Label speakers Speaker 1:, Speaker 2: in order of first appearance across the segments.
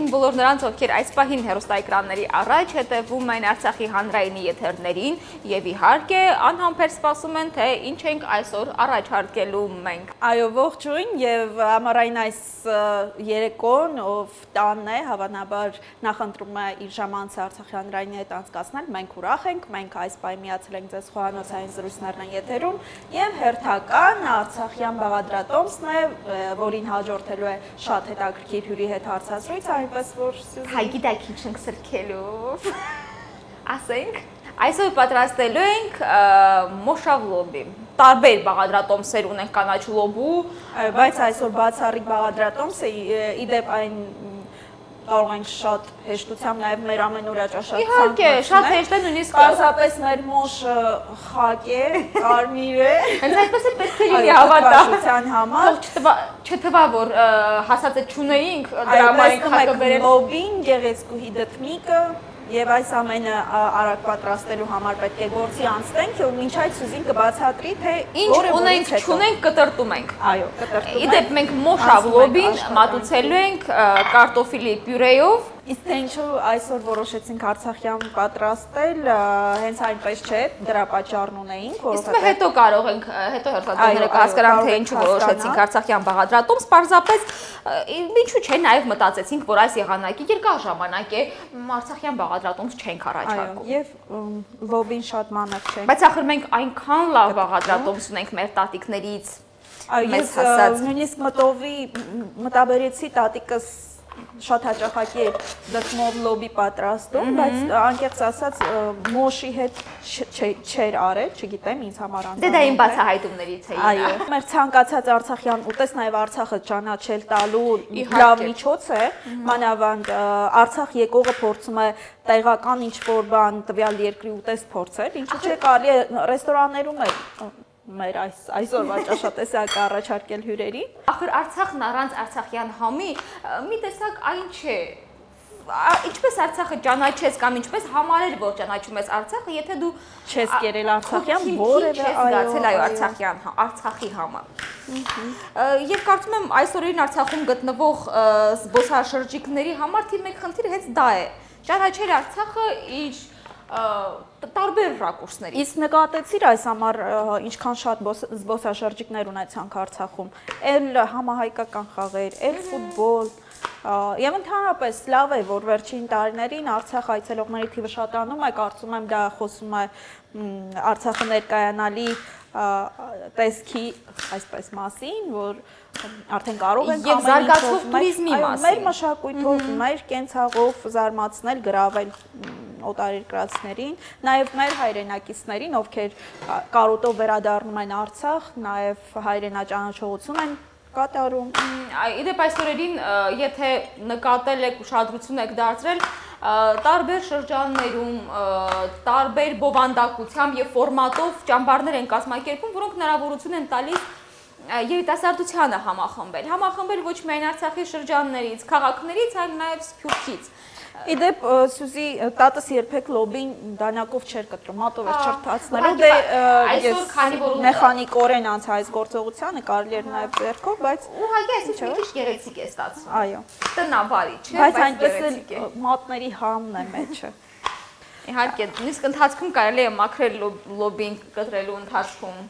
Speaker 1: ողջույն բոլոր նրանց, ովքեր այս պահին հեռուստաէկրանների առաջ հետևում են Արցախի հանրայինի եթերներին եւ իհարկե անհամբեր սպասում են, թե ինչ ենք այսօր առաջարկելու մենք։
Speaker 2: Այո, ողջույն եւ ամառային այս երեկոն, ով տանն է, հավանաբար նախընտրում է իր ժամանցը Արցախի հանրայինի հետ անցկացնել, մենք ուրախ ենք, մենք այս պահի միացել ենք ձեզ խոհանոցային զրույցներն են եթերում եւ հերթական Արցախյան բաղադրատոմսն է, որին հաջորդելու է շատ հետաքրքիր հյուրի հետ հարցազրույց, այնպես որ
Speaker 1: հայ գիտակ ինչ ենք սրքելով։ Ասենք, այսօր պատրաստելու ենք մոշավ լոբի։ Տարբեր բաղադրատոմսեր ունենք կանաչ լոբու,
Speaker 2: բայց այսօր բացառիկ բաղադրատոմսը իդեպ այն կարող ենք շատ հեշտությամբ նաև մեր ամենօրյա ճաշակցության։
Speaker 1: Իհարկե, շատ հեշտ է նույնիսկ
Speaker 2: պարզապես մեր մոշը խակ է, կարմիր է։
Speaker 1: Հենց այդպես է պետք է լինի հավատալ
Speaker 2: համար։
Speaker 1: Չթվա որ հասած է չունեինք, դրա համար ենք հակը բերել
Speaker 2: լոբին, գեղեցկուհի դդմիկը եւ այս ամենը արագ պատրաստելու համար պետք է գործի անցնենք, եւ մինչ այդ Սյուզին կբացատրի, թե
Speaker 1: ինչ ունենք, չունենք, կտրտում ենք։
Speaker 2: Այո, կտրտում ենք։
Speaker 1: Իդեպ մենք մոշավ լոբին մատուցելու ենք կարտոֆիլի պյուրեով։
Speaker 2: Իսկ թե ինչու այսօր որոշեցինք արցախյան պատրաստել, հենց այնպես չէ, դրա պատճառն ունեինք,
Speaker 1: որովհետեւ հետո կարող ենք, հետո հերթականները կհասկանան, թե ինչու որոշեցինք արցախյան բաղադրատոմս, պարզապես ինչու՞ չէ, նաև մտածեցինք, որ այս եղանակի երկար ժամանակ է արցախյան բաղադրատոմս չենք առաջարկում։
Speaker 2: Եվ լոբին շատ մանր չէ։
Speaker 1: Բայց ախր մենք այնքան լավ բաղադրատոմս ունենք մեր տատիկներից։
Speaker 2: Ես նույնիսկ մտաբերեցի տատիկս շատ հաճախակի է դդմով լոբի պատրաստում, բայց անկեղծ ասած մոշի հետ չեր արել, չգիտեմ, ինձ համար անձամբ։
Speaker 1: Դե դա իմ բացահայտումներից է։
Speaker 2: Այո, մեր ցանկացած արցախյան ուտես նաև Արցախը ճանաչել տալու լավ միջոց է, մանավանդ Արցախ եկողը փորձում է տեղական ինչ-որ բան տվյալ երկրի ուտես փորձել, ինչու՞ չէ կարելի է ռեստորաններում է մեր այսօրվա ճաշատեսակը առաջարկել հյուրերին։
Speaker 1: Ախր Արցախն առանց արցախյան համի մի տեսակ այն չէ։ Ինչպես Արցախը ճանաչես կամ ինչպես համարել, որ ճանաչում ես Արցախը, եթե դու
Speaker 2: չես կերել արցախյան որևէ
Speaker 1: այո արցախյան Արցախի համը։ Եվ կարծում եմ այսօրին Արցախում գտնվող զբոսաշրջիկների համար թիվ 1 խնդիրը հենց դա է։ Ճանաչել Արցախը իր տարբեր ռակուրսների։
Speaker 2: Իսկ նկատեցիր այս ամառ ինչքան շատ զբոսաշրջիկներ ունեցանք Արցախում, էլ համահայկական խաղեր, էլ ֆուտբոլ, եւ ընդհանրապես լավ է, որ վերջին տարիներին Արցախ այցելողների թիվը շատանում է, կարծում եմ դա խոսում է Արցախը ներկայանալի տեսքի այսպես մասին, որ արդեն կարող ենք
Speaker 1: եւ զարգացող туриզմի մասին,
Speaker 2: մեր մշակույթով, մեր կենցաղով զարմացնել, գրավել օտարերկրացիներին, նաեւ մեր հայրենակիցներին, ովքեր կարոտով վերադառնում են Արցախ, նաեւ հայրենաճանաչողություն են կատարում։
Speaker 1: Իդեպ այս օրերին, եթե նկատել եք, ուշադրություն եք դարձրել, տարբեր շրջաններում, տարբեր բովանդակությամբ եւ ֆորմատով ճամբարներ են կազմակերպում, որոնք հնարավորություն են տալիս երիտասարդությանը համախմբել ոչ միայն Արցախի շրջաններից, քաղաքներից, այլ նաեւ Սփյուռքից։
Speaker 2: Իդեպ Սյուզի տատս երբեք լոբին դանակով չէր կտրում, մատով էր չրթացնելու, դե ես մեխանիկորեն անց այս գործողությանը կարելի էր նաև ձեռքով, բայց
Speaker 1: ուղղակի այսպես մի քիչ գեղեցիկ է ստացվում։
Speaker 2: Այո։
Speaker 1: Տնավարի, չէ՞,
Speaker 2: բայց այնպես էլ մատների համն է մեջը։
Speaker 1: Իհարկե, նույնիսկ ընթացքում կարելի է մաքրել լոբին կտրելու ընթացքում։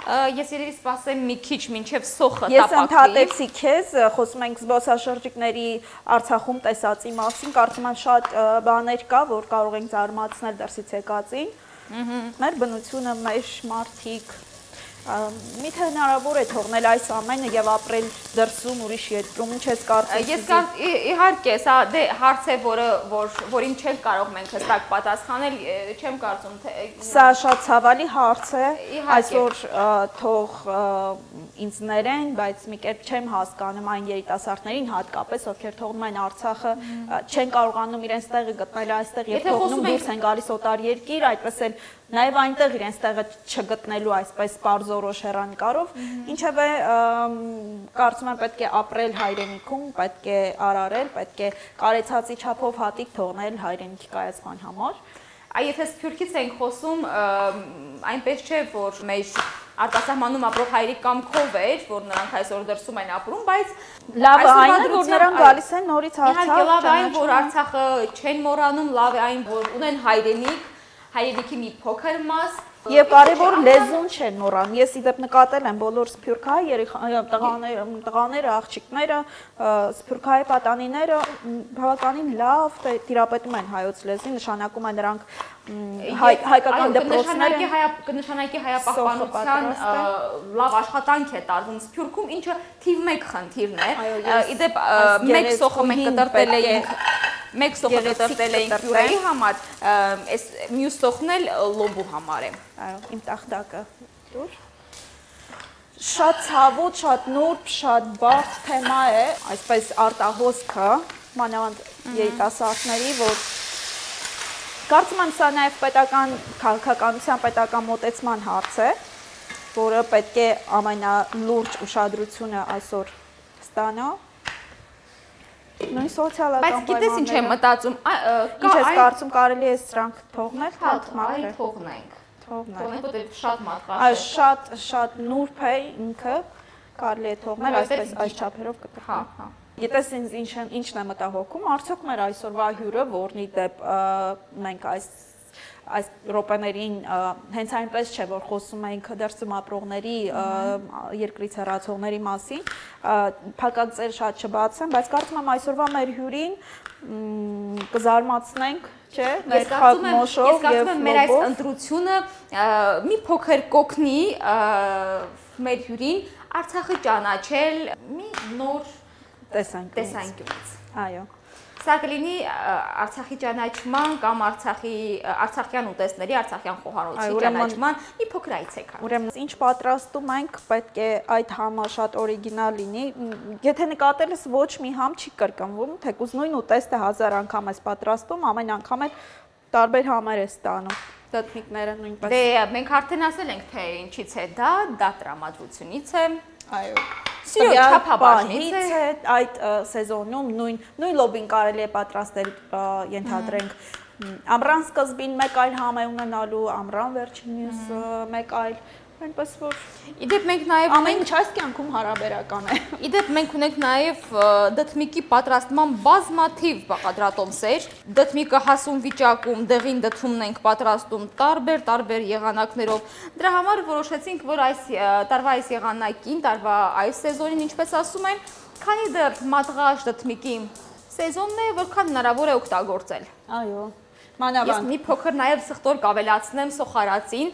Speaker 1: Ես երևի սպասեմ մի քիչ մինչև սոխը տապակվի։
Speaker 2: Ես ընդհատեցի քեզ, խոսում ենք զբոսաշրջիկների Արցախում տեսածի մասին, կարծում եմ շատ բաներ կա, որ կարող ենք զարմացնել դրսից եկածին։ Մեր բնությունը, մեր մարդիկ, միթե հնարավոր է թողնել այս ամենը եւ ապրել դրսում ուրիշ երկրում, ինչ ես կարծում։
Speaker 1: Ես իհարկե, սա դե հարց է, որին չենք կարող մենք հստակ պատասխանել, չեմ կարծում թե
Speaker 2: Սա շատ ցավալի հարց է, այսօր թող ինձ ներեն, բայց մի կերպ չեմ հասկանում այն երիտասարդներին հատկապես, ովքեր թողնում են Արցախը, չեն կարողանում իրենց տեղը գտնել այստեղ եւ թողնում դուրս են գալիս օտար երկիր, այդպես էլ Նաև այնտեղ իրենց տեղը չգտնելու այսպես պարզորոշ հեռանկարով, ինչևէ կարծում եմ պետք է ապրել հայրենիքում, պետք է արարել, պետք է կարեցածի չափով հատիկ թողնել հայրենիքի կայացման համար։
Speaker 1: Եթե Սփյուռքից ենք խոսում, այնպես չէ, որ մեր արտասահմանում ապրող հայրիկ կամքով էր, որ նրանք այսօր դրսում են ապրում, բայց
Speaker 2: լավ այն է, որ նրանք գալիս են նորից Արցախ,
Speaker 1: իհարկե լավ այն, որ Արցախը չեն մոռանում, լավ է այն, որ ունեն հայրենիքի մի փոքր մաս
Speaker 2: Եվ կարևոր լեզուն չեն մոռանում։ Ես իդեպ նկատել եմ բոլոր սփյուռքահայ տղաները, աղջիկները, սփյուռքահայ պատանիները բավականին լավ տիրապետում են հայոց լեզվին, նշանակում է նրանք հայկական դպրոցները
Speaker 1: կնշանակի հայապահպանության լավ աշխատանք է տարվում Սփյուռքում, ինչը թիվ 1 խնդիրն է։ Իդեպ մեկ սոխը մենք կտրտել էինք Մեկ սոխը կտրտել էինք Յուրայի համար, այս մյուս սոխն էլ Լոբու համար է։
Speaker 2: Այո, իմ տախտակը դուր։ Շատ ցավոտ, շատ նուրբ, շատ բարդ թեմա է, այսպես արտահոսքը, մանավանդ երիտասարդների, որ կարծում եմ սա նաև պետական քաղաքականության պետական մոտեցման հարց է, որը պետք է ամենալուրջ ուշադրությունը այսօր ստանա։ Նույն սոցիալական
Speaker 1: Բայց գիտես ինչ եմ մտածում,
Speaker 2: ինչ ես կարծում կարելի է սրանք թողնել,
Speaker 1: այ թողնենք, որտեղ շատ մատղաշ է։
Speaker 2: Շատ նուրբ է ինքը, կարելի է թողնել, այսպես այս չափերով կտրտել։ Գիտես ինձ ինչն է մտահոգում, արդյոք մեր այսօրվա հյուրը, որնի դեպ մենք այս րոպեներին հենց այնպես չէ, որ խոսում ենք դրսում ապրողների, երկրից հեռացողների մասին, փակագծեր շատ չբացեմ, բայց կարծում եմ այսօրվա մեր հյուրին կզարմացնենք, չէ, մեր խաղմոշով եւ լոբով։ Ես կարծում եմ
Speaker 1: մեր այս ընտրությունը մի փոքր կօգնի մեր հյուրին Արցախը ճանաչել մի նոր տեսանկյունից։
Speaker 2: Այո։
Speaker 1: Սա կլինի Արցախի ճանաչման կամ արցախյան ուտեստների, արցախյան խոհանոցի ճանաչման մի փոքր այցեքար։
Speaker 2: Ուրեմն ինչ պատրաստում ենք, պետք է այդ համը շատ օրիգինալ լինի։ Եթե նկատել ես ոչ մի համ չի կրկնվում, թեկուզ նույն ուտեստը 1000 անգամ ես պատրաստում, ամեն անգամ էլ տարբեր համեր ես ստանում։ Դդմիկները նույնպես։
Speaker 1: Դե մենք արդեն ասել ենք, թե ինչից է դա տրամադրությունից է։
Speaker 2: Այո։
Speaker 1: Սիրո չափաբաժնից է
Speaker 2: այդ սեզոնում նույն լոբին կարելի է պատրաստել, ենթադրենք ամռան սկզբին մեկ այլ համ է ունենալու, ամռան վերջին մյուս մեկ այլ, այնպես որ
Speaker 1: իդեպ մենք նաև
Speaker 2: ամեն ինչ այս կյանքում հարաբերական է։
Speaker 1: Իդեպ մենք ունենք նաև դդմիկի պատրաստման բազմաթիվ բաղադրատոմսեր, դդմիկը հասուն վիճակում դեղին դդումն ենք պատրաստում տարբեր եղանակներով։ Դրա համար որոշեցինք, որ տարվա այս եղանակին, տարվա այս սեզոնին, ինչպես ասում են, քանի դեռ մատղաշ դդմիկի սեզոնն է, որքան հնարավոր է օգտագործել։
Speaker 2: Այո։
Speaker 1: Ես մի փոքր նաև սխտոր կավելացնեմ սոխարածին,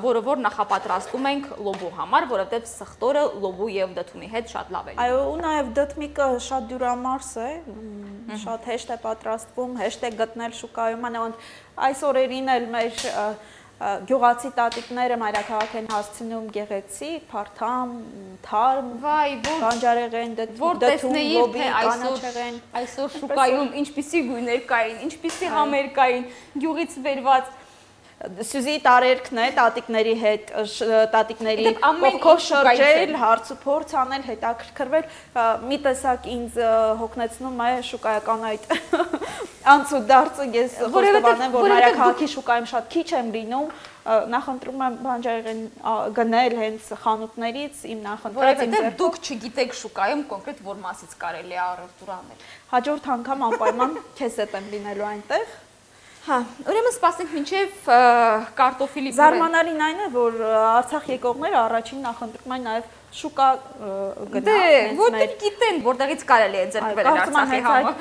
Speaker 1: որը որ նախապատրաստում ենք լոբու համար, որովհետև սխտորը լոբու եւ դդումի հետ շատ լավ է։
Speaker 2: Այո, ու նաև դդմիկը շատ դյուրամարս է, շատ հեշտ է պատրաստվում, հեշտ է գտնել շուկայում, մանավանդ այս օրերին էլ մեր գյուղացի տատիկները մայրաքաղաք են հասցնում գեղեցիկ, փարթամ, թարմ, բանջարեղեն, դդում, լոբի, կանաչեղեն։
Speaker 1: Այսօր շուկայում ինչպիսի գույներ կային, ինչպիսի համեր կային, գյուղից վերված
Speaker 2: Սյուզի տարերքն է, տատիկների հետ, տատիկների կողքով շրջել, հարց ու փորձ անել, հետաքրքրվել, մի տեսակ ինձ հոգնեցնում է շուկայական այդ անցուդարձը, ես խոստովանեմ, որ մայրաքաղաքի շուկայում շատ քիչ եմ լինում, նախընտրում եմ բանջարեղեն գնել հենց խանութներից, իմ նախընտրած իմ ձեռքով։
Speaker 1: Որովհետև դուք չգիտեք շուկայում կոնկրետ որ մասից կարելի է առևտուր անել։
Speaker 2: Հաջորդ անգամ անպայման քեզ հետ եմ լինելու այնտեղ։
Speaker 1: Հա, ուրեմն սպասենք մինչև կարտոֆիլի պուրեն։
Speaker 2: Զարմանալին այն է, որ Արցախ եկողները առաջին նախընտրում են նաև շուկա գնալ։
Speaker 1: Դե, որտեղ գիտեն, որտեղից կարելի է ձեռքվել Արցախի համը։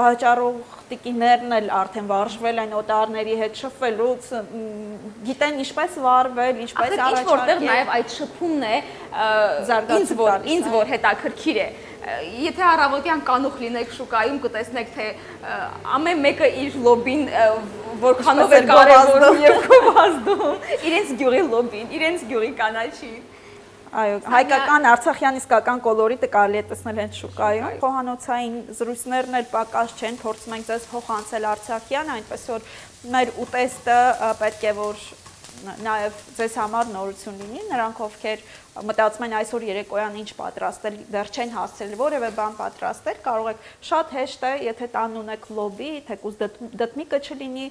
Speaker 2: Վաճառող տիկիներն էլ արդեն վարժվել են օտարների հետ շփվելուց, գիտեն ինչպես վարվել, ինչպես առաջարկել։
Speaker 1: Ինչ որտեղ նաև այդ շփումն է ինձ որ հետաքրքիր է։ Եթե առավոտյան կանուխ լինեք շուկայում, կտեսնեք, թե ամեն մեկը իր լոբին որքանով է կարևորում եւ գովազդում, իրենց գյուղի լոբին, իրենց գյուղի կանաչի։
Speaker 2: Այո, հայկական արցախյան իսկական կոլորիտը կարելի է տեսնել հենց շուկայում։ Խոհանոցային զրույցներն էլ պակաս չեն, փորձում ենք ձեզ փոխանցել արցախյան, այնպես որ մեր ուտեստը պետք է որ նաև ձեզ համար նորություն լինի, նրանք ովքեր մտածում են այսօր երեկոյան ինչ պատրաստել, դեռ չեն հասցրել որևէ բան պատրաստել, կարող եք շատ հեշտ է, եթե տանն ունեք լոբի, թեկուզ դդմիկը չլինի,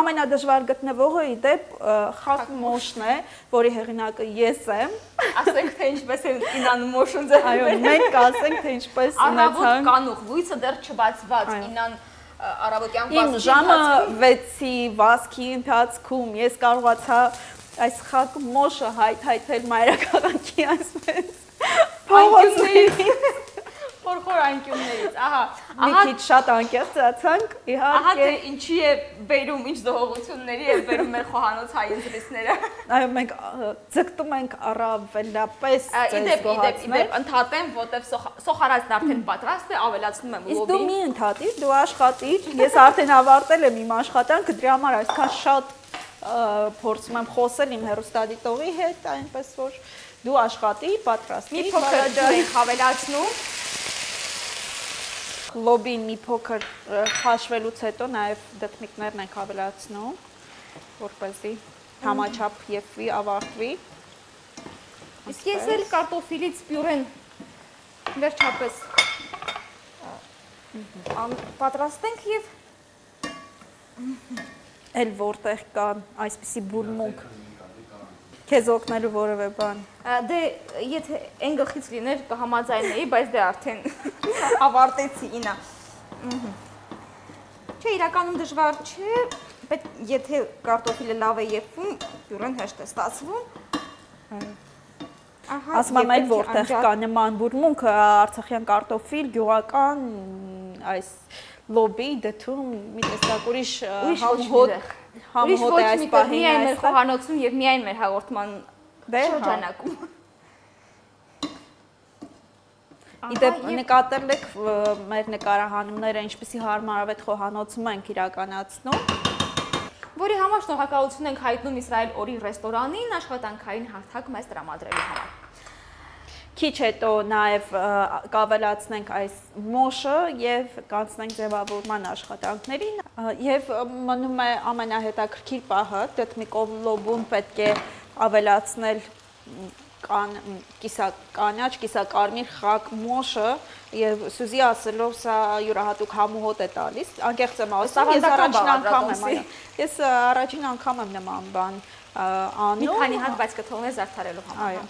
Speaker 2: ամենադժվար գտնվողը ի դեպ խաղ մոշն է, որի հեղինակը ես եմ։
Speaker 1: Ասենք թե ինչպես է Ինան մոշուն ձեր։
Speaker 2: Այո, մենք ասենք թե ինչպես
Speaker 1: ունեցանք։ Առավոտ կանուխ, լույսը դեռ չբացված, Ինան առավոտյան
Speaker 2: իմ ժամը 6-ի վազքի ընթացքում ես կարողացա այս խաղ մոշը հայթայթել մայրաքաղաքի այսպես փողոցներից,
Speaker 1: խոր անկյուններից, ահա,
Speaker 2: մի քիչ շատ անկեղծացանք, իհարկե։
Speaker 1: Ահա թե ինչի է բերում, ինչ զողողությունների է բերում մեր խոհանոց հայ ընձրիցները։
Speaker 2: Այո, մենք ձգտում ենք առավելապես ձեզ գոհացնել։
Speaker 1: Իդեպ ընդհատեմ, որտեվ սոխարածն արդեն պատրաստ է, ավելացնում եմ
Speaker 2: լոբին։ Իսկ դու մի ընդհատիր, դու աշխատիր, ես արդեն ավարտել եմ իմ աշխատանքը, դրա համար այսքան շատ փորձում եմ խոսել իմ հեռուստադիտողի հետ, այնպես որ դու աշխատիր, պատրաստիր,
Speaker 1: մի փոքր ջուր ավելացնում։
Speaker 2: Լոբին մի փոքր խաշվելուց հետո նաև դդմիկներն ենք ավելացնում, որպեսզի համաչափ եփվի, ավարտվի։
Speaker 1: Իսկ ես էլ կարտոֆիլից պյուրեն վերջապես պատրաստենք եւ
Speaker 2: էլ որտեղ կա այսպիսի բուրմունք քեզ օգնելու որևէ բան։
Speaker 1: Դե եթե այն գլխից լիներ կհամաձայնեի, բայց դե արդեն ավարտեցի Ինա։ Չէ, իրականում դժվար չէ, բայց եթե կարտոֆիլը լավ է եփվում, պյուրեն հեշտ է ստացվում։
Speaker 2: Ասում եմ այլ որտեղ կա նման բուրմունք, արցախյան կարտոֆիլ, գյուղական այս լոբի դդում մի տեսակ ուրիշ համոհոտ է այս պահին
Speaker 1: միայն մեր խոհանոցում եւ միայն մեր հաղորդման շրջանակում։
Speaker 2: Իդեպ նկատել եք մեր նկարահանումները ինչպեսի հարմարավետ խոհանոցում ենք իրականացնում,
Speaker 1: որի համար շնորհակալություն ենք հայտնում Իսրայել օրի ռեստորանին աշխատանքային հարթակ մեզ տրամադրելու համար։
Speaker 2: Քիչ հետո նաև կավելացնենք այս մոշը եւ կանցնենք ձևավորման աշխատանքներին եւ մնում է ամենահետաքրքիր պահը, դդմիկով լոբուն պետք է ավելացնել կիսականաչ, կիսակարմիր խակ մոշը եւ Սյուզի ասելով սա յուրահատուկ համոհոտ է տալիս, անկեղծ եմ ասում, ես առաջին անգամ եմ նման բան անում։
Speaker 1: Մի քանի հատ բայց կթողնես զարդարելու համար։
Speaker 2: Այո։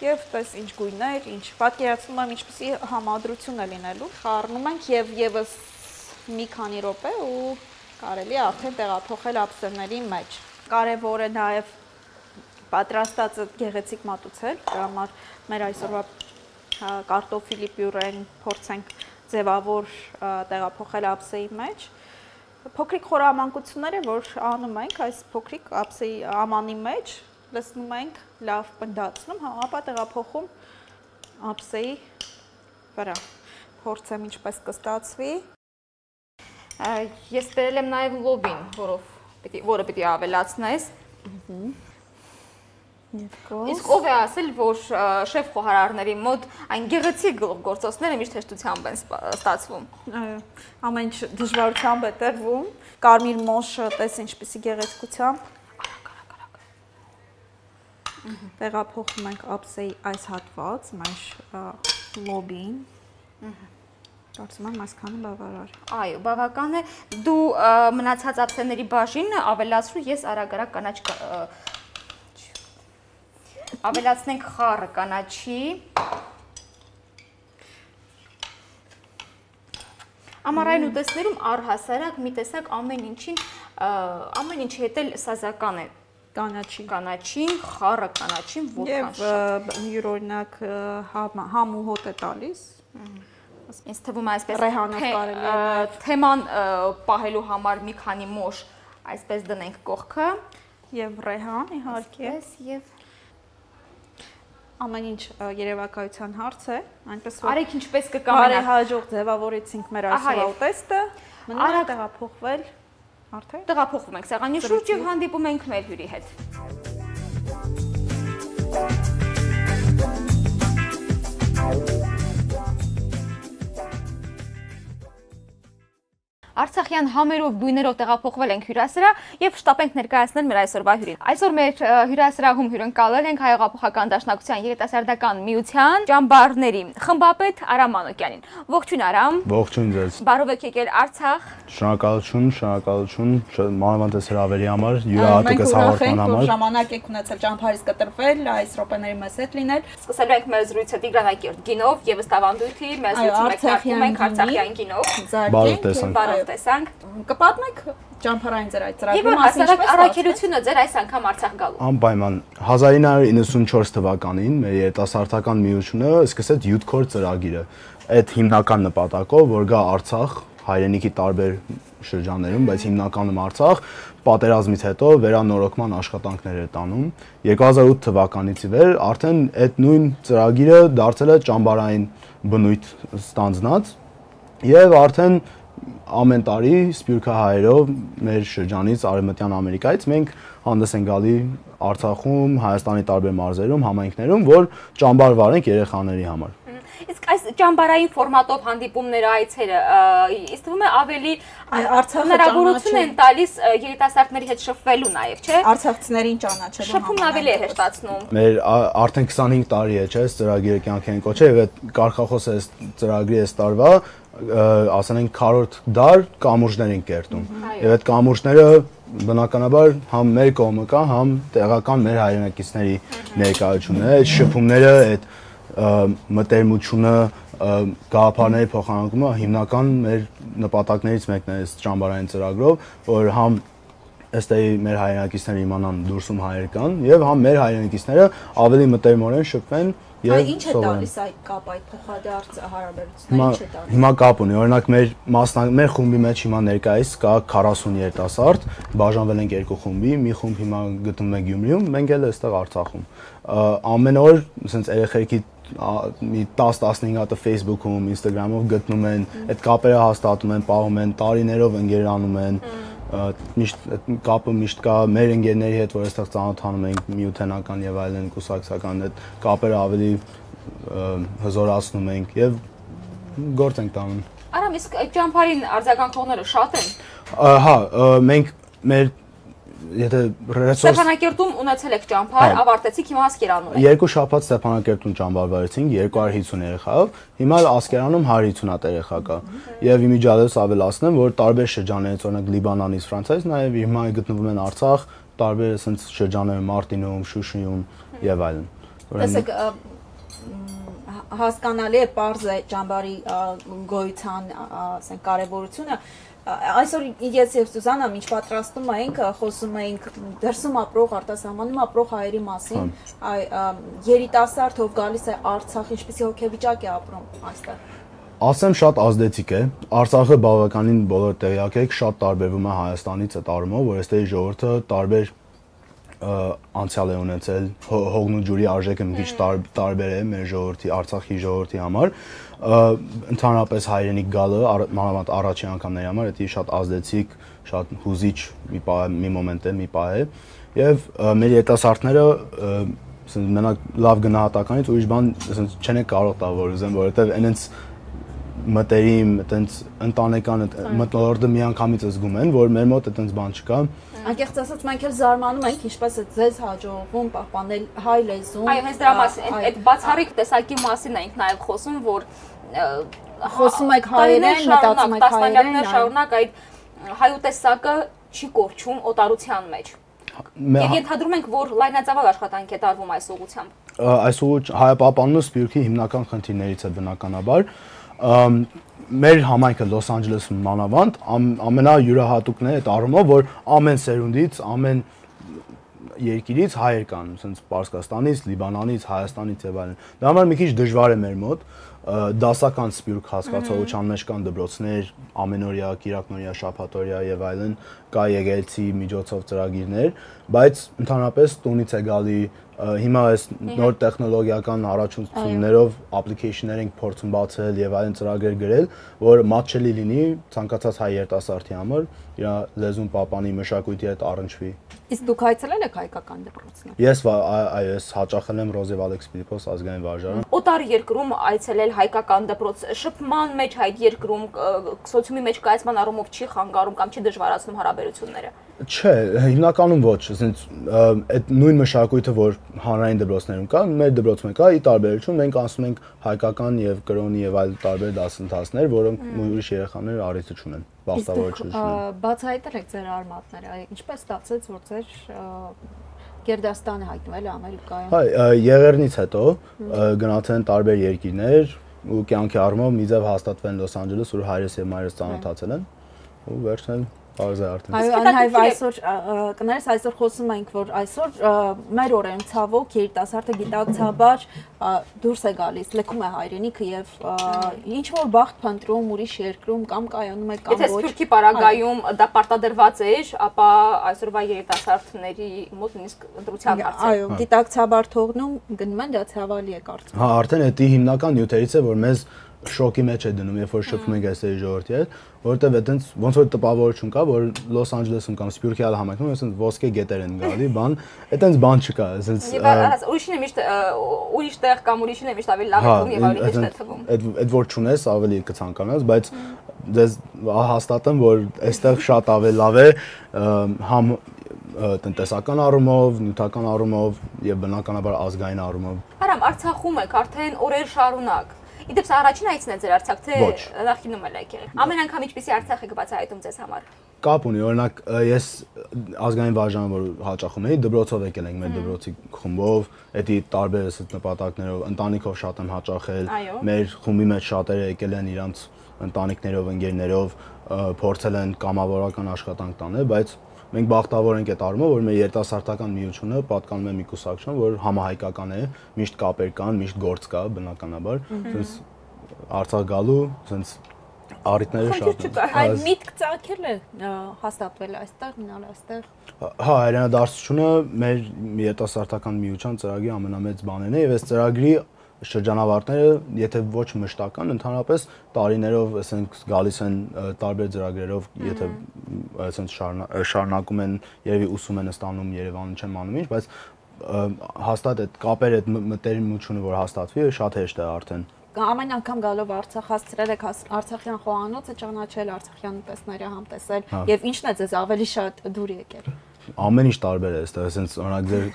Speaker 2: Եվ տես ինչ գույներ, ինչ պատկերացնում եմ ինչպեսի համադրություն է լինելու։ Խառնում ենք եւ եւս մի քանի րոպե ու կարելի է արդեն տեղափոխել ափսեների մեջ։ Կարևոր է նաեւ պատրաստածը գեղեցիկ մատուցել, դրա համար մեր այսօրվա կարտոֆիլի պյուրեն փորձենք ձևավոր տեղափոխել ափսեի մեջ։ Փոքրիկ խորամանկությունները, որ անում ենք այս փոքրիկ ափսեի ամանի մեջ, լցնում ենք, լավ պնդացնում, ապա տեղափոխում ափսեի վրա։ Փորձեմ ինչպես կստացվի։
Speaker 1: Ես բերել եմ նաև լոբին, որը պիտի ավելացնես։ Իսկ ով է ասել, որ շեֆ խոհարարների մոտ այն գեղեցիկ գլուխգործոցները միշտ հեշտությամբ են ստացվում։
Speaker 2: Այո, ամեն ինչ դժվարությամբ է տրվում։ Կարմիր մոշը տես ինչպեսի գեղեցկությամբ։ Տեղափոխում ենք ափսեի այս հատված, մեր լոբին։ Կարծում եմ այսքանը բավարար։
Speaker 1: Այո, բավական է։ Դու մնացած ափսեների բաժինը ավելացրու, ես արագ-արագ կանաչ ավելացնենք խառը կանաչի։ Ամառային ուտեստներում առհասարակ մի տեսակ ամեն ինչի հետ էլ սազական է։ Կանաչին, խառը կանաչին, որքան
Speaker 2: շատ։ Եվ յուրօրինակ համուհոտ է տալիս։
Speaker 1: Ինձ թվում է այսպես
Speaker 2: ռեհանով կարելի է
Speaker 1: թեման պահելու համար մի քանի մոշ այսպես դնենք կողքը
Speaker 2: եւ ռեհան իհարկե
Speaker 1: եւ
Speaker 2: ամեն ինչ երևակայության հարց է, այնպես որ
Speaker 1: արեք ինչպես կկամենաք։
Speaker 2: Բարեհաջող ձևավորեցինք մեր այսօրվա ուտեստը, մնում է տեղափոխվել արդեն։
Speaker 1: Տեղափոխվում ենք սեղանի շուրջ եւ հանդիպում ենք մեր հյուրի հետ։ Արցախյան համերով գույներով տեղափոխվել ենք հյուրասրահ եւ շտապ ենք ներկայացնել մեր այսօրվա հյուրին։ Այսօր մեր հյուրասրահում հյուրընկալել ենք Հայ-Հեղափոխական դաշնակցության երիտասարդական միության ճամբարների խմբապետ Արամ Մանուկյանին։ Ողջույն Արամ։
Speaker 3: Ողջույն ձեզ։
Speaker 1: Բարով եք եկել Արցախ։
Speaker 3: Շնորհակալություն, մանավանդ այս հրավերի համար, յուրահատուկ այս հաղորդման համար։
Speaker 2: Ժամանակ եք ունեցել ճամփարից կտրվել, այս րոպեների մեզ հետ լինել։
Speaker 1: Սկսելու ենք մեր զրույցը Տիգրանակերտ գինով եւ ըստ ավանդույթի մեզ մեկնարկում ենք Արցախյան գինով։ Բարով տեսանք։
Speaker 2: Կպատմեք ճամփարային ձեր այդ ծրագրի
Speaker 1: մասին։ Եվ հասարակ առաքելությունը ձեր այս անգամ Արցախ գալու։
Speaker 3: Անպայման 1994 թվականին մեր երիտասարդական միությունը սկսեց յուտքոր ծրագիրը։ Այդ հիմնական նպատակով, որ գա Արցախ հայրենիքի տարբեր շրջաններում, բայց հիմնականում Արցախ պատերազմից հետո վերանորոգման աշխատանքներ էր տանում։ 2008 թվականից ի վեր արդեն այդ նույն ծրագիրը դարձել է ճամբարային բնույթ ստանձնած եւ արդեն ամեն տարի սփյուռքահայերով մեր շրջանից Արևմտյան Ամերիկայից մենք հանդես ենք գալի Արցախում, Հայաստանի տարբեր մարզերում, համայնքներում, որ ճամբար վարենք երեխաների համար։
Speaker 1: Իսկ այս ճամբարային ֆորմատով հանդիպումները, այցերը, ինձ թվում է ավելի հնարավորություն են տալիս երիտասարդների հետ շփվելու նաև, չէ՞։
Speaker 2: Արցախցիներին ճանաչելու։
Speaker 1: Շփումն ավելի է հեշտացնում։
Speaker 3: Մեր արդեն 25 տարի է, չէ՞, ծրագիրը կյանքի են կոչել, եւ այդ կարգախոսը այս ծրագրի այս տարվա, ասենք 4-րդ դար կամուրջներ են կերտում։ Եվ այդ կամուրջները բնականաբար համ մեր կողմը կա, համ տեղական մեր հայրենակիցների ներկայությունն է, այդ շփումները, այդ մտերմությունը, գաղափարների փոխանակումը հիմնական մեր նպատակներից մեկն է այս ճամբարային ծրագրով, որ համ ըստեի մեր հայրենակիցները իմանան դուրսում հայեր կան եւ համ մեր հայրենակիցները ավելի մտերմորեն շփվեն եւ
Speaker 2: ինչ է տալիս այդ կապ, այդ փոխադարձ հարաբերությունները ինչ է տալիս։
Speaker 3: Հիմա կապ ունի, օրինակ մեր խումբի մեջ հիմա ներկայիս կա 40 երիտասարդ, բաժանվել ենք երկու խումբի, մի խումբ հիմա գտնվում է Գյումրիում, մենք էլ այստեղ Արցախում։ Ամեն օր ասենց երեխեքի մի 10-15 հատը Facebook-ում, Instagram-ով գտնում են, այդ կապերը հաստատում են, պահում են, տարիներով ընկերանում են, միշտ կապը միշտ կա մեր ընկերների հետ, որ այստեղ ծանոթանում ենք, միութենական եւ այլն, կուսակցական, այդ կապերը ավելի հզորացնում ենք եւ գործ ենք տանում։
Speaker 1: Արամ, իսկ այդ ճամփարին արձագանքողները շատ են։
Speaker 3: Հա, մենք մեր եթե ռեսուրս
Speaker 1: Ստեփանակերտում ունեցել եք ճամփար, ավարտեցիք, հիմա Ասկերանում եք։
Speaker 3: Երկու շաբաթ Ստեփանակերտում ճամբար վարեցինք 250 երեխայով, հիմա Ասկերանում 150 հատ երեխա կա։ Եվ իմիջիալս ավելացնեմ, որ տարբեր շրջաններից, օրինակ Լիբանանից, Ֆրանսիայից, նաև հիմա գտնվում են Արցախ, տարբեր ասենց շրջաններում, Մարտինում, Շուշիում եւ այլն։
Speaker 2: Տեսեք, հասկանալի է, պարզ է ճամբարի գոյության, ասենք, կարևորությունը։ Այսօր ես եւ Սուզանա ինչ պատրաստում ենք, խոսում ենք դրսում ապրող, արտասահմանում ապրող հայերի մասին, երիտասարդ ով գալիս է Արցախ, ինչպիսի հոգեվիճակ է ապրում այստեղ։
Speaker 3: Ասեմ շատ ազդեցիկ է։ Արցախը բավականին բոլոր տեղյակ եք, շատ տարբերվում է Հայաստանից այդ առումով, որ այստեղի ժողովուրդը տարբեր անցյալ է ունեցել, հողն ու ջուրի արժեքը մի քիչ տարբեր է մեր ժողովրդի, Արցախի ժողովրդի համար, ընդհանրապես հայրենիք գալը, մանավանդ առաջին անգամների համար, դա շատ ազդեցիկ, շատ հուզիչ մի մոմենտ է, մի պահ է, եւ մեր երիտասարդները մենակ լավ գնահատականից ուրիշ բան չեն կարող տալ, որ ուզեն, որովհետեւ այնց մտերիմ, այտենց ընտանեկան մտնոլորտը միանգամից զգում են, որ մեր մոտ այտենց բան չկա։
Speaker 2: Անկեղծ ասած մենք էլ զարմանում ենք, ինչպես է ձեզ հաջողվում պահպանել հայ լեզուն։
Speaker 1: Այո, հենց դրա մասին, այդ բացառիկ տեսակի մասին ենք նաև խոսում, որ
Speaker 2: խոսում եք հայերեն, մտածում եք հայերեն,
Speaker 1: շարունակ այդ հայուտեսակը չի կորչում օտարության մեջ։ Եվ ենթադրում ենք, որ լայնածավալ աշխատանք է տարվում այս ուղղությամբ։
Speaker 3: Այս հայապահպանումը Սփյուռքի հիմնական խնդիրներից է բնականաբար։ Մեր համայնքը Լոս Անջելեսում մանավանդ ամենայուրահատուկն է այդ առումով, որ ամեն սերունդից, ամեն երկիրից հայեր կան, ասենց Պարսկաստանից, Լիբանանից, Հայաստանից եւ այլն։ Դա համար մի քիչ դժվար է մեր մոտ, դասական սփյուռք հասկացողության մեջ կան դպրոցներ, ամենօրյա, կիրակնօրյա, շաբաթօրյա եւ այլն, կա եկեղեցի միջոցով ծրագիրներ, բայց ընդհանրապես տունից է գալի հիմա այս նոր տեխնոլոգիական առաջություններով application-ներ ենք փորձում բացել եւ այլն ծրագրեր գրել, որ մատչելի լինի ցանկացած հայ երիտասարդի համար, իր լեզուն պահպանի, մշակույթի հետ առնչվի։
Speaker 2: Իսկ դուք այցելել եք հայկական դպրոցներ։
Speaker 3: Ես հաճախել եմ Ռոզեվ Ալեքս Ֆիլիպոս ազգային վարժարան։
Speaker 1: Օտար երկրում այցելել հայկական դպրոց շփման մեջ այդ երկրում սոցիումի մեջ կայացման առումով չի խանգարում կամ չի դժվարացնում հարաբերությունները։
Speaker 3: Չէ, հիմնականում ոչ, ասենց այդ նույն մշակույթը, որ հանրային դպրոցներում կա, մեր դպրոցում կա, ի տարբերություն մենք անցնում ենք հայկական եւ կրոնի եւ այլ տարբեր դասընթացներ, որոնք ուրիշ երեխաներ առիթը չունեն, բախտավորություն չունեն։
Speaker 2: Բացահայտել եք ձեր արմատները, ինչպես ստացեց, որ ձեր Գերդաստանը հայտնվել է Ամերիկայում։
Speaker 3: Հայ, եղերնից հետո գնացել են տարբեր երկիրներ ու կյանքի առումով մի ձև հաստատվել Լոս Անջելես, որ հայրս եւ մայրս ծանոթացել են ու վերջնել Այո,
Speaker 2: անհայտ այսօր կներես այսօր խոսում ենք, որ այսօր մեր օրերում ցավոք երիտասարդը գիտակցաբար դուրս է գալիս, լքում է հայրենիքը եւ ինչ որ բախտ փնտրում ուրիշ երկրում կամ կայանում է կամ ոչ։
Speaker 1: Եթե Սփյուռքի պարագայում դա պարտադրված էր, ապա այսօրվա երիտասարդների մոտ նույնիսկ ընտրության հարց է։
Speaker 2: Այո, գիտակցաբար թողնում գնում են, դա ցավալի է կարծում։
Speaker 3: Հա, արդեն դա հիմնական նյութերից է, որ մեզ շոկի մեջ է դնում, երբ որ շփվում ենք այսերի ժողովրդի հետ, որովհետև այդտենց ոնց որ տպավորություն կա, որ Լոս Անջելեսում կամ Սփյուռքի այլ համայնքում այսպես ոսկե գետեր են գալի, բան, այդտենց բան չկա, այսպես
Speaker 1: ուրիշին է միշտ ուրիշ տեղ կամ ուրիշին է միշտ ավելի լավ թվում եւ ավելի հեշտ է թվում։
Speaker 3: Այդ որ չունես, ավելի կցանկանաս, բայց դες հաստատեմ, որ այստեղ շատ ավելի լավ է համ տնտեսական առումով, նյութական առումով եւ բնականաբար ազգային առումով։
Speaker 1: Արամ, Արցախում եք արդեն օրեր շարունակ։ Իդեպ սա առաջին այցն է ձեր Արցախ, թե նախկինում էլ եք եղել։ Ամեն անգամ ինչպեսի Արցախ եք բացահայտում ձեզ համար։
Speaker 3: Կապ ունի, օրինակ ես ազգային վարժանը, որ հաճախում էի, դպրոցով եկել ենք մեր դպրոցի խումբով, էդի տարբեր նպատակներով, ընտանիքով շատ եմ հաճախել, մեր խումբի մեջ շատերը եկել են իրանց ընտանիքներով, ընկերներով, փորձել են կամավորական աշխատանք տանել, բայց մենք բախտավոր ենք այդ առումով, որ մեր երիտասարդական միությունը պատկանում է մի կուսակցություն, որ համահայկական է, միշտ կապեր կան, միշտ գործ կա, բնականաբար, ասես Արցախ գալու, ասես առիթները շատ են։
Speaker 2: Այդ միտք ծագել է հաստատվել այստեղ, մնալ այստեղ։
Speaker 3: Հա, հայրենադարձությունը մեր երիտասարդական միության ծրագրի ամենամեծ բանն է, եւ այս ծրագրի շրջանավարտները, եթե ոչ մշտական, ընդհանրապես տարիներով, ասենք, գալիս են տարբեր ծրագրերով, եթե ասենք շարունակում են, երևի ուսում են ստանում Երևանում չեմ անում ինչ, բայց հաստատ այդ կապերը, այդ մտերիմությունը, որ հաստատվի, շատ հեշտ է արդեն։
Speaker 2: Ամեն անգամ գալով Արցախ հասցրել եք Արցախյան խոհանոցը ճանաչել, Արցախյան ուտեստները համտեսել, եւ ինչն է ձեզ ավելի շատ դուր եկել։
Speaker 3: Ամեն ինչ տարբեր է այստեղ, ասենց օրինակ ձեր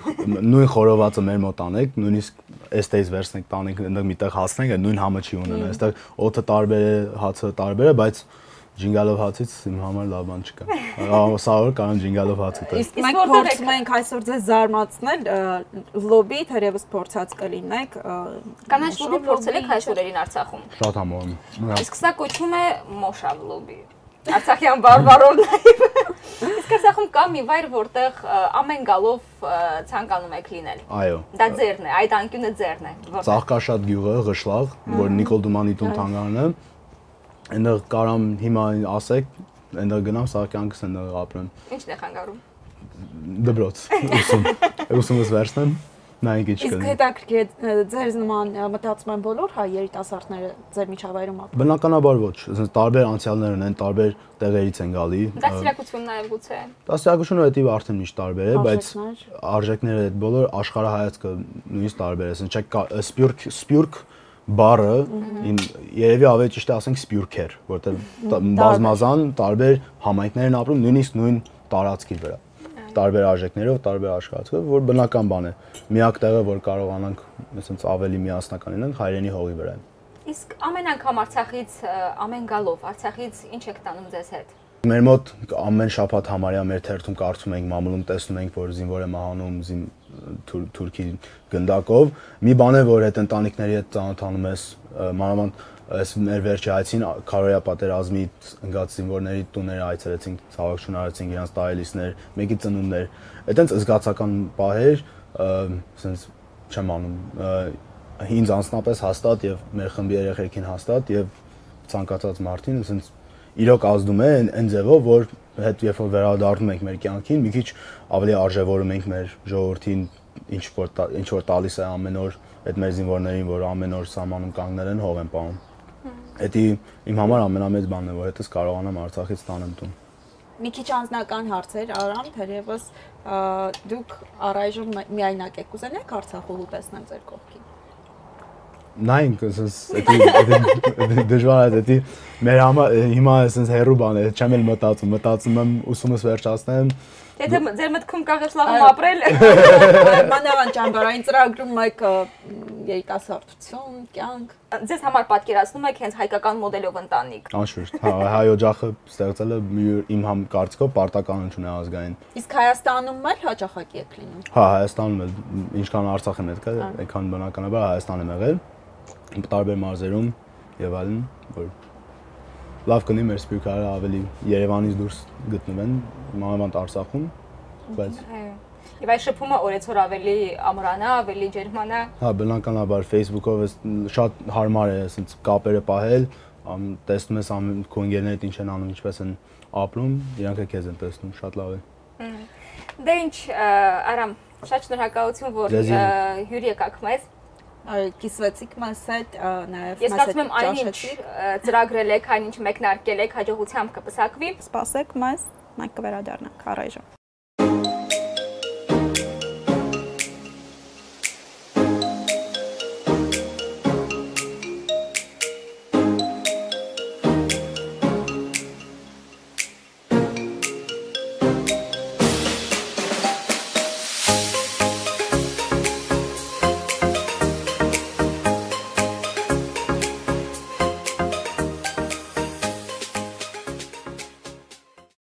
Speaker 3: նույն խորովածը մեր մոտ անեք, նույնիսկ էստեից վերցնենք տանենք, այնտեղ միտեղ հասնենք, այդ նույն համը չի ունենա։ Այստեղ օդը տարբեր է, հացը տարբեր է, բայց ջինգալով հացից իմ համար լավ բան չկա։ Սա որ կարող ջինգալով հաց ուտել։
Speaker 2: Իսկ մենք փորձում ենք այսօր ձեզ զարմացնել, լոբի թերևս փորձած կլինեք։
Speaker 1: Կանաչ լոբի փորձել եք այս օրերին Արցախում։
Speaker 3: Շատ համոզում։
Speaker 1: Իսկ սա կոչվում է մոշավ լոբի։ Արցախյան բարբարով նաև։ Իսկ Արցախում կա մի վայր, որտեղ ամեն գալով ցանկանում եք լինել։
Speaker 3: Այո։
Speaker 1: Դա ձերն է, այդ անկյունը ձերն է։
Speaker 3: Ծաղկաշատ գյուղը, Ղշլաղ, որ Նիկոլ Դումանի տուն թանգարանն է։ Այնտեղ կարամ հիմա ասեք, այնտեղ գնամ, սա կյանքս այնտեղ ապրեմ։
Speaker 1: Ինչն է խանգարում։
Speaker 3: Դպրոց։ Ուսումս վերցնեմ, նայենք ինչ կլինի։
Speaker 2: Իսկ հետաքրքիր է ձեր նման մտածում են բոլոր հայ երիտասարդները ձեր միջավայրում ապրում։
Speaker 3: Բնականաբար ոչ, ասես տարբեր անցյալներ ունեն, տարբեր տեղերից են գալի։
Speaker 1: Դաստիարակություն նաև գուցե։
Speaker 3: Դաստիարակությունը հետիվ արդեն միշտ տարբեր է, բայց արժեքները այդ բոլոր աշխարհայացքը նույնիսկ տարբեր է, ասես չէ Սփյուռք բառը երևի ավելի ճիշտ է ասենք Սփյուռքեր, որտեղ բազմազան տարբեր համայնքներ են ապրում նույնիսկ նույն տարածքի վրա, տարբեր արժեքներով, տարբեր աշխարհացքով, որ բնական բան է։ Միակ տեղը, որ կարողանանք այսպես ավելի միասնական լինենք, հայրենի հողի վրա է։
Speaker 1: Իսկ ամեն անգամ Արցախից ամեն գալով Արցախից ինչ եք տանում ձեզ հետ։
Speaker 3: Մեր մոտ ամեն շաբաթ համարյա մեր թերթում կարդում ենք, մամուլում տեսնում ենք, որ զինվոր է մահանում թուրքի գնդակով։ Մի բան է, որ այդ ընտանիքների հետ ծանոթանում ես, մանավանդ այս մեր վերջի այցին Քարոյա պատերազմի ընկած զինվորների տուները այցելեցինք, ցավոք արեցինք իրանց տարելիցներ, մեկի ծնունդներ։ Այդտենց զգացական պահեր, ասենց չեմ անում, ինձ անձնապես հաստատ եւ մեր խմբի երեխեքին հաստատ եւ ցանկացած մարդին, ասենց իրոք ազդում է այն ձևով, որ հետ երբ որ վերադառնում ենք մեր կյանքին, մի քիչ ավելի արժևորում ենք մեր ժողովրդին, ինչ որ տալիս է ամեն օր այդ մեր զինվորներին, որ ամեն օր սահմանում կանգնել են, հող են պահում։ Դա իմ համար ամենամեծ բանն է, որ հետս կարողանամ Արցախից տանեմ տուն։
Speaker 2: Մի քիչ անձնական հարցեր, Արամ, թերևս դուք առայժմ միայնակ եք, կուզենաք Արցախը ուտեսնել ձեր կողքին։
Speaker 3: նայենք, դժվար է, դա մեր հիմա այսպես հերու բան է, չեմ էլ մտածում եմ ուսումս վերջացնեմ։
Speaker 1: Եթե ձեր մտքում կա Ղեսլավում ապրել,
Speaker 2: մանավանդ ճամբարային ծրագրում մեկ երիտասարդություն, կյանք։
Speaker 1: Ձեզ համար պատկերացնում եք հենց հայկական մոդելով ընտանիք։
Speaker 3: Անշուշտ, հայ օջախը ստեղծել է իմ կարծիքով պարտականություն է ազգային։
Speaker 2: Իսկ Հայաստանում էլ հաճախակի եք լինում։
Speaker 3: Հա, Հայաստանում էլ, ինչքան Արցախ եմ եկել, այնքան բնականաբար Հայաստան եմ եղել, տարբեր մարզերում եւ այլն, որ լավ կնի մեր սպիրկարը ավելի Երևանից դուրս գտնվեն, մանավանդ Արցախում, բայց
Speaker 1: Եվ այս շփումը օրեցօր ավելի ամրանա, ավելի ջերմանա։
Speaker 3: Հա, բնականաբար Facebook-ով շատ հարմար է այսպես կապերը պահել, տեսնում ես քո ընկերներդ ինչ են անում, ինչպես են ապրում, իրանք էլ քեզ են տեսնում, շատ լավ է։
Speaker 1: Դե ինչ, Արամ, շատ շնորհակալություն, որ հյուր եկաք մեզ։
Speaker 2: Կիսվեցիք մեզ հետ, նաև
Speaker 1: Ես կարծում եմ այնինչ ծրագրել եք, այնինչ մեկնարկել եք, հաջողությամբ կպսակվի։
Speaker 2: Սպասեք մեզ, մենք կվերադառնանք առայժմ։